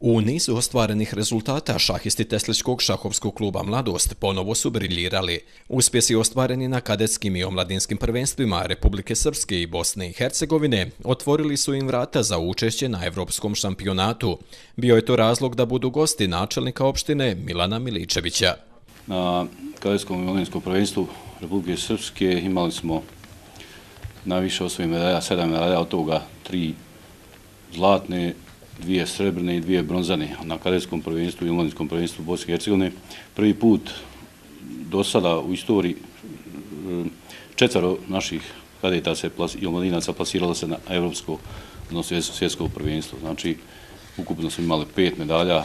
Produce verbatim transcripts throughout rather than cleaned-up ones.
U nizu ostvarenih rezultata šahisti Tesličkog šahovskog kluba Mladost ponovo su briljirali. Uspjesi ostvareni na kadetskim i omladinskim prvenstvima Republike Srpske i Bosne i Hercegovine otvorili su im vrata za učešće na Evropskom šampionatu. Bio je to razlog da budu gosti načelnika opštine Milana Miličevića. Na kadetskom i omladinskom prvenstvu Republike Srpske imali smo najviše osvojenih medalja, sedam medalja, od toga tri zlatne, dvije srebrne i dvije bronzane na kadetskom prvenstvu i omladinskom prvenstvu Bosne i Hercegovine. Prvi put do sada u istoriji četvero naših kadeta i omladinaca plasiralo se na evropsko, odnosno svjetsko prvenstvo. Znači, ukupno smo imali pet medalja,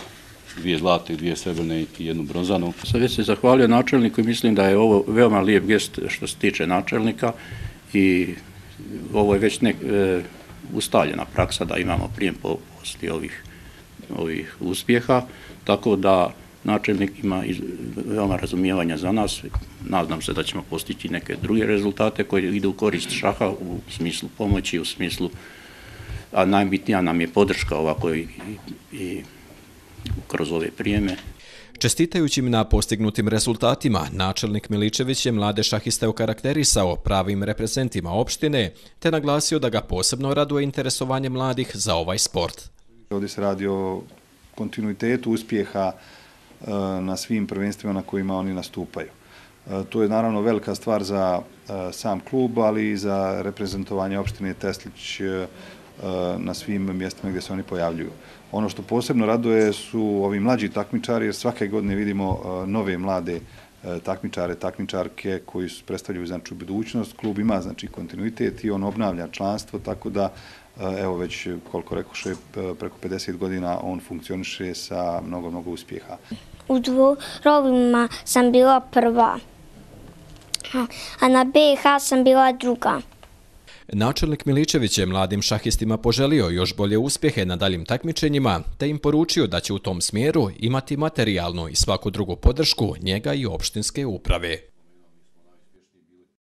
dvije zlatne, dvije srebrne i jednu bronzanu. Sad već se zahvalio načelniku i mislim da je ovo veoma lijep gest što se tiče načelnika i ovo je već nek, e, ustaljena praksa da imamo prijem poslije ovih, ovih uspjeha, tako da načelnik ima iz, veoma razumijevanja za nas. Nadam se da ćemo postići neke druge rezultate koje idu u korist šaha u smislu pomoći, u smislu, a najbitnija nam je podrška ovako i, i, i kroz ove prijeme. Čestitajući im na postignutim rezultatima, načelnik Miličević je mlade šahiste okarakterisao pravim reprezentima opštine, te naglasio da ga posebno raduje interesovanje mladih za ovaj sport. Ovdje se radi o kontinuitetu uspjeha na svim prvenstvima na kojima oni nastupaju. To je naravno velika stvar za sam klub, ali i za reprezentovanje opštine Teslić na svim mjestima gdje se oni pojavljuju. Ono što posebno raduje su ovi mlađi takmičari, jer svake godine vidimo nove mlade takmičare, takmičarke koji predstavljaju znači budućnost. Klub ima znači kontinuitet i on obnavlja članstvo, tako da evo već koliko rekoše preko pedeset godina on funkcioniše sa mnogo, mnogo uspjeha. U dvorovima sam bila prva, a na B i H sam bila druga. Načelnik Miličević je mladim šahistima poželio još bolje uspjehe na daljim takmičenjima, te im poručio da će u tom smjeru imati materijalnu i svaku drugu podršku njega i opštinske uprave.